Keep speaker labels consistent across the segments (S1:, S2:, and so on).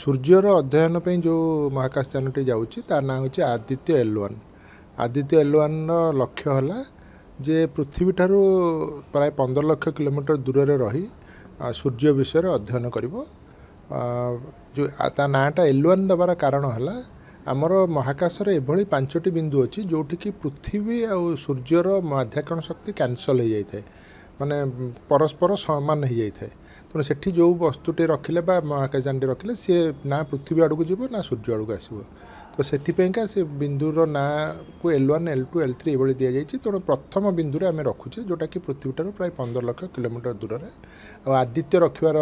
S1: ସୂର୍ଯ୍ୟର ଅଧ୍ୟୟନ ପାଇଁ ଯେଉଁ ମହାକାଶଯାନଟି ଯାଉଛି ତା ନାଁ ହେଉଛି ଆଦିତ୍ୟ L1। Aditya L1ର ଲକ୍ଷ୍ୟ ହେଲା ଯେ ପୃଥିବୀଠାରୁ ପ୍ରାୟ 15 ଲକ୍ଷ କିଲୋମିଟର ଦୂରରେ ରହି ସୂର୍ଯ୍ୟ ବିଷୟରେ ଅଧ୍ୟୟନ କରିବ। ଯେଉଁ ତା ନାଁଟା L1 ଦେବାର କାରଣ ହେଲା ଆମର ମହାକାଶରେ ଏଭଳି 5ଟି ବିନ୍ଦୁ ଅଛି ଯେଉଁଠିକି ପୃଥିବୀ ଆଉ ସୂର୍ଯ୍ୟର ମାଧ୍ୟାକର୍ଷଣ ଶକ୍ତି କ୍ୟାନସଲ୍ ହେଇଯାଇଥାଏ, ମାନେ ପରସ୍ପର ସମାନ ହେଇଯାଇଥାଏ। ତେଣୁ ସେଠି ଯେଉଁ ବସ୍ତୁଟି ରଖିଲେ ବା ମହାକାଶଯାନଟି ରଖିଲେ ସିଏ ନା ପୃଥିବୀ ଆଡ଼କୁ ଯିବ ନା ସୂର୍ଯ୍ୟ ଆଡ଼କୁ ଆସିବ। ତ ସେଥିପାଇଁକା ସେ ବିନ୍ଦୁର ନାଁକୁ L1, L2, L3 ଏଭଳି ଦିଆଯାଇଛି। ତେଣୁ ପ୍ରଥମ ବିନ୍ଦୁରେ ଆମେ ରଖୁଛେ ଯେଉଁଟାକି ପୃଥିବୀଠାରୁ ପ୍ରାୟ 15 ଲକ୍ଷ କିଲୋମିଟର ଦୂରରେ। ଆଉ ଆଦିତ୍ୟ ରଖିବାର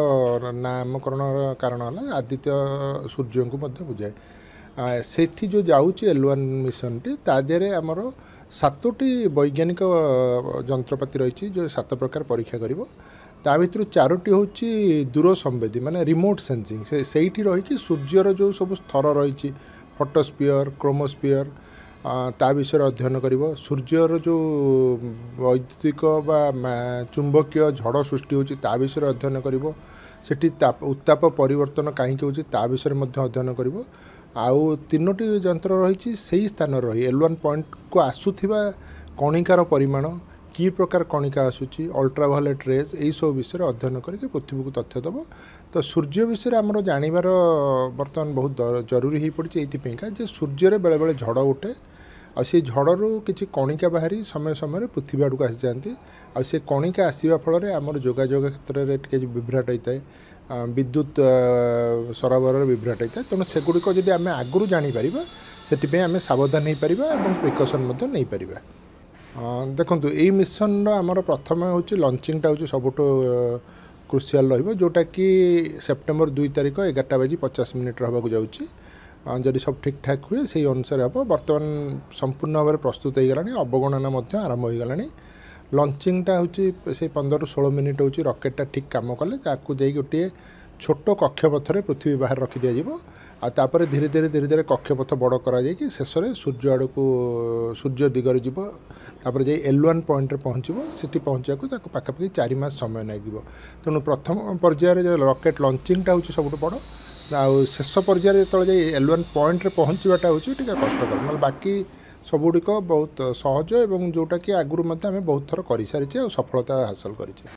S1: ନାମକରଣର କାରଣ ହେଲା ଆଦିତ୍ୟ ସୂର୍ଯ୍ୟଙ୍କୁ ମଧ୍ୟ ବୁଝାଏ। ସେଠି ଯେଉଁ ଯାଉଛି L1 ମିଶନଟି ତା ଦେହରେ ଆମର 7ଟି ବୈଜ୍ଞାନିକ ଯନ୍ତ୍ରପାତି ରହିଛି ଯେଉଁ 7 ପ୍ରକାର ପରୀକ୍ଷା କରିବ। ତା ଭିତରୁ 4ଟି ହେଉଛି ଦୂର ସମ୍ବେଦୀ, ମାନେ ରିମୋଟ୍ ସେନ୍ସିଂ। ସେ ସେଇଠି ରହିକି ସୂର୍ଯ୍ୟର ଯେଉଁ ସବୁ ସ୍ତର ରହିଛି, ଫଟୋସ୍ପିୟର, କ୍ରୋମୋସ୍ପିୟର, ତା ବିଷୟରେ ଅଧ୍ୟୟନ କରିବ। ସୂର୍ଯ୍ୟର ଯେଉଁ ବୈଦ୍ୟୁତିକ ବା ଚୁମ୍ବକୀୟ ଝଡ଼ ସୃଷ୍ଟି ହେଉଛି ତା ବିଷୟରେ ଅଧ୍ୟୟନ କରିବ। ସେଠି ଉତ୍ତାପ ପରିବର୍ତ୍ତନ କାହିଁକି ହେଉଛି ତା ବିଷୟରେ ମଧ୍ୟ ଅଧ୍ୟୟନ କରିବ। ଆଉ 3ଟି ଯନ୍ତ୍ର ରହିଛି ସେଇ ସ୍ଥାନରେ ରହି L1 ପଏଣ୍ଟକୁ ଆସୁଥିବା କଣିକାର ପରିମାଣ, କି ପ୍ରକାର କଣିକା ଆସୁଛି, ଅଲ୍ଟ୍ରାଭାୟୋଲେଟ୍ ରେଜ୍, ଏଇସବୁ ବିଷୟରେ ଅଧ୍ୟୟନ କରିକି ପୃଥିବୀକୁ ତଥ୍ୟ ଦେବ। ତ ସୂର୍ଯ୍ୟ ବିଷୟରେ ଆମର ଜାଣିବାର ବର୍ତ୍ତମାନ ବହୁତ ଜରୁରୀ ହେଇପଡ଼ିଛି ଏଇଥିପାଇଁକା ଯେ ସୂର୍ଯ୍ୟରେ ବେଳେବେଳେ ଝଡ଼ ଉଠେ ଆଉ ସେଇ ଝଡ଼ରୁ କିଛି କଣିକା ବାହାରି ସମୟ ସମୟରେ ପୃଥିବୀ ଆଡ଼କୁ ଆସିଯାଆନ୍ତି। ଆଉ ସେ କଣିକା ଆସିବା ଫଳରେ ଆମର ଯୋଗାଯୋଗ କ୍ଷେତ୍ରରେ ଟିକେ ବିଭ୍ରାଟ ହେଇଥାଏ, ବିଦ୍ୟୁତ ସରବରାହରେ ବିଭ୍ରାଟ ହେଇଥାଏ। ତେଣୁ ସେଗୁଡ଼ିକ ଯଦି ଆମେ ଆଗରୁ ଜାଣିପାରିବା ସେଥିପାଇଁ ଆମେ ସାବଧାନ ହେଇପାରିବା ଏବଂ ପ୍ରିକସନ୍ ମଧ୍ୟ ନେଇପାରିବା। ଦେଖନ୍ତୁ, ଏଇ ମିଶନର ଆମର ପ୍ରଥମେ ହେଉଛି ଲଞ୍ଚିଂଟା ହେଉଛି ସବୁଠୁ କ୍ରୁସିଆଲ୍ ରହିବ, ଯେଉଁଟାକି ସେପ୍ଟେମ୍ବର 2 ତାରିଖ 11:50 ହେବାକୁ ଯାଉଛି। ଯଦି ସବୁ ଠିକ୍ଠାକ୍ ହୁଏ ସେଇ ଅନୁସାରେ ହେବ। ବର୍ତ୍ତମାନ ସମ୍ପୂର୍ଣ୍ଣ ଭାବରେ ପ୍ରସ୍ତୁତ ହେଇଗଲାଣି, ଅବଗଣନା ମଧ୍ୟ ଆରମ୍ଭ ହୋଇଗଲାଣି। ଲଞ୍ଚିଂଟା ହେଉଛି ସେଇ 15ରୁ 16 ମିନିଟ୍ ହେଉଛି ରକେଟ୍ଟା ଠିକ୍ କାମ କଲେ ତାକୁ ଯାଇ ଗୋଟିଏ ଛୋଟ କକ୍ଷପଥରେ ପୃଥିବୀ ବାହାରେ ରଖିଦିଆଯିବ। ଆଉ ତାପରେ ଧୀରେ ଧୀରେ ଧୀରେ ଧୀରେ କକ୍ଷପଥ ବଡ଼ କରାଯାଇକି ଶେଷରେ ସୂର୍ଯ୍ୟ ଆଡ଼କୁ, ସୂର୍ଯ୍ୟ ଦିଗରେ ଯିବ। ତାପରେ ଯାଇ L1 ପଏଣ୍ଟରେ ପହଞ୍ଚିବ। ସେଠି ପହଞ୍ଚିବାକୁ ତାକୁ ପାଖାପାଖି 4 ମାସ ସମୟ ଲାଗିବ। ତେଣୁ ପ୍ରଥମ ପର୍ଯ୍ୟାୟରେ ରକେଟ୍ ଲଞ୍ଚିଂଟା ହେଉଛି ସବୁଠୁ ବଡ଼, ଆଉ ଶେଷ ପର୍ଯ୍ୟାୟରେ ଯେତେବେଳେ ଯାଇ L1 ପଏଣ୍ଟରେ ପହଞ୍ଚିବାଟା ହେଉଛି ଟିକେ କଷ୍ଟକର। ନହେଲେ ବାକି ସବୁଗୁଡ଼ିକ ବହୁତ ସହଜ ଏବଂ ଯେଉଁଟାକି ଆଗରୁ ମଧ୍ୟ ଆମେ ବହୁତ ଥର କରିସାରିଛେ ଆଉ ସଫଳତା ହାସଲ କରିଛେ।